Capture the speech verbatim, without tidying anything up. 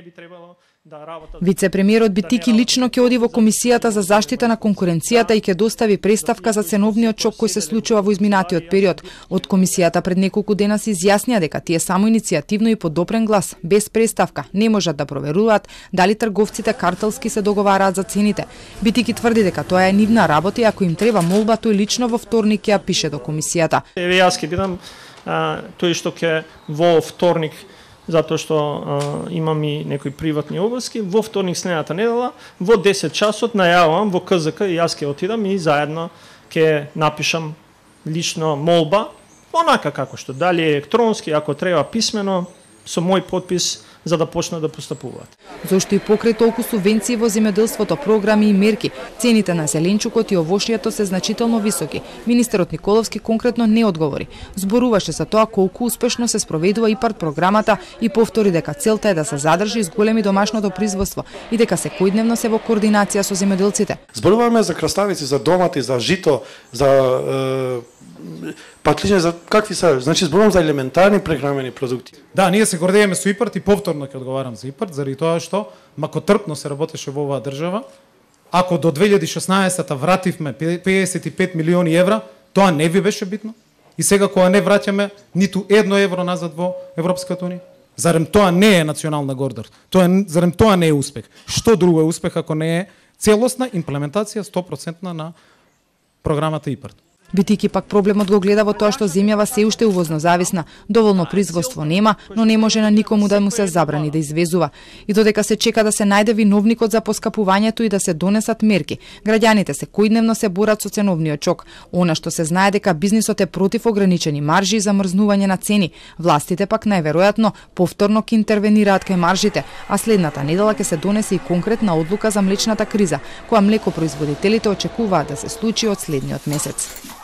би требало да работат. Вице-премиерот Битики лично ќе оди во Комисијата за заштита на конкуренцијата и ќе достави представка за ценовниот шок кој се случува во изминатиот период. Од Комисијата пред неколку дена се изјаснија дека тие само иницијативно и по допрен глас, без представка, не можат да проверуваат дали трговците картелски се договараат за цените. Битики тврди дека тоа е нивна работа и ако им треба молба, тој лично во вторник ќе ја пише до Комисијата. Еве јас ќе бидам а, тој што ќе во вторник, затоа што а, имам и некои приватни обврски, во вторник следната недела, во десет часот најавувам во К З К и јас ќе отидам и заедно ќе напишам лично молба, онака како што, дали електронски, ако треба писмено, со мој подпис, за да почнат да постапуваат. Зошто и покрај толку субвенции во земјоделството, програми и мерки, цените на зеленчукот и овошјето се значително високи. Министерот Николовски конкретно не одговори. Зборуваше за тоа колку успешно се спроведува ИПАРД програмата и повтори дека целта е да се задржи и зголеми домашното производство и дека секојдневно се во координација со земјоделците. Зборуваме за краставици, за домати, за жито, за е, патлиџе, за какви се, значи зборувам за елементарни прехранени продукти. Да, ние се гордееме со ИПАРД и повторно ќе одговарам за ИПАРД, заради тоа што макотрпно се работеше во оваа држава. Ако до две илјади и шеснаесетта вративме педесет и пет милиони евра, тоа не ви беше битно? И сега кога не враќаме ниту едно евро назад во Европската унија? Зарем тоа не е национална гордост? Тоа е, зарем тоа не е успех? Што друго е успех ако не е целосна имплементација сто проценти на програмата ИПАРД? Битики пак проблемот го гледа во тоа што земјава се уште увозно зависна, доволно производство нема, но не може на никому да му се забрани да извезува. И додека се чека да се најде виновникот за поскапувањето и да се донесат мерки, граѓаните секојдневно се борат со ценовниот шок. Она што се знае дека бизнисот е против ограничени маржи и замрзнување на цени, властите пак најверојатно повторно ќе интервенираат кај маржите, а следната недела ќе се донесе и конкретна одлука за млечната криза, која млекопроизводителите очекуваат да се случи од следниот месец.